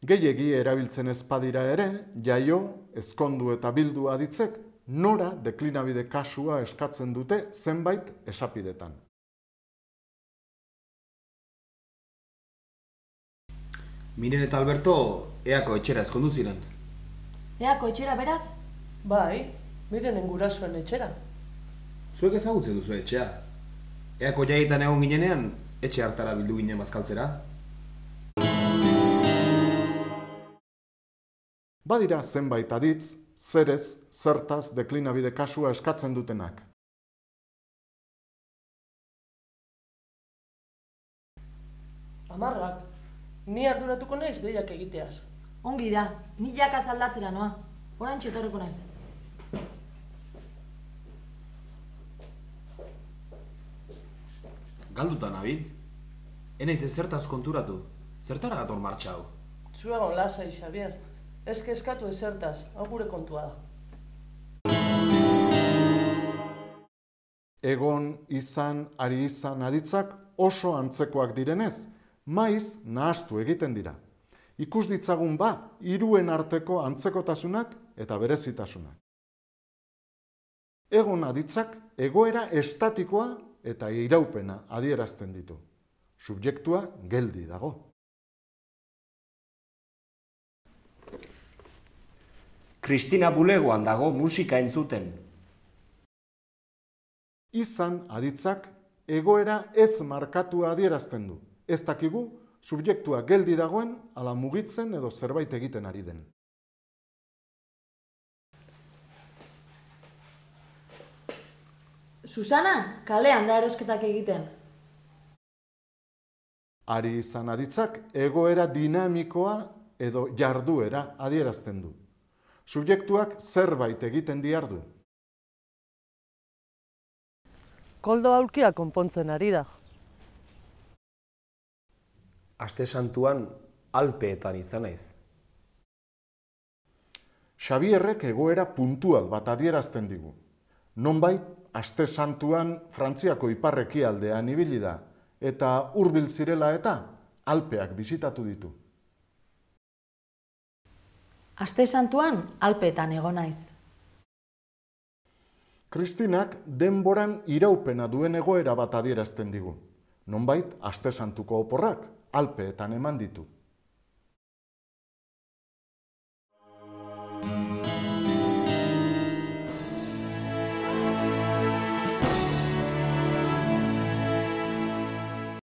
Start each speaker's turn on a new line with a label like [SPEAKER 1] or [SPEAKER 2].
[SPEAKER 1] Gehiegi erabiltzen ez badira ere, jaio, ezkondu eta bildu aditzek, nora deklinabide kasua eskatzen dute zenbait esapidetan.
[SPEAKER 2] Miren eta Alberto eako etxera ezkondu ziren.
[SPEAKER 3] Eako etxera beraz?
[SPEAKER 4] Bai, Mirenen gurasoen etxera.
[SPEAKER 2] Zuek ezagutzen duzu etxea. Eako jaietan egon ginenean, etxe hartara bildu ginen bazkaltzera.
[SPEAKER 1] Badira zenbait aditz, zerez, zertaz deklinabide kasua eskatzen dutenak.
[SPEAKER 4] Amarrak, ni arduratuko naiz deiak egiteaz.
[SPEAKER 3] Ongi da, ni jakaz aldatzera noa. Oraintxe etorriko naiz.
[SPEAKER 2] Galduta nabil. Enaiz ez zertaz konturatu. Zertara gator martxa hau?
[SPEAKER 4] Zuegon lasai, Xavier. Ez kezkatu ezertaz, hau gure kontua da.
[SPEAKER 1] Egon, izan, ari izan aditzak oso antzekoak direnez, maiz nahastu egiten dira. Ikus ditzagun hiruen arteko antzekotasunak eta berezitasunak. Egon aditzak egoera estatikoa eta iraupena adierazten ditu. Subjektua geldi dago.
[SPEAKER 5] Kristina bulegoan dago musika entzuten.
[SPEAKER 1] Izan aditzak egoera ez markatua adierazten du. Ez dakigu subjektua geldi dagoen ala mugitzen edo zerbait egiten ari den.
[SPEAKER 3] Susana, kalean da erosketak egiten.
[SPEAKER 1] Ari izan aditzak egoera dinamikoa edo jarduera adierazten du. Subjektuak zerbait egiten diardu.
[SPEAKER 4] Koldo aulkia konpontzen ari da.
[SPEAKER 5] Aste santuan Alpeetan izan naiz.
[SPEAKER 1] Xabierrek egoera puntual bat adierazten digu. Nonbait, aste santuan Frantziako ipar-ekialdean ibili da, eta hurbil zirela eta Alpeak bisitatu ditu.
[SPEAKER 3] Aste santuan Alpeetan egon naiz.
[SPEAKER 1] Kristinak denboran iraupena duen egoera bat adierazten digu. Nonbait, aste santuko oporrak Alpeetan eman ditu.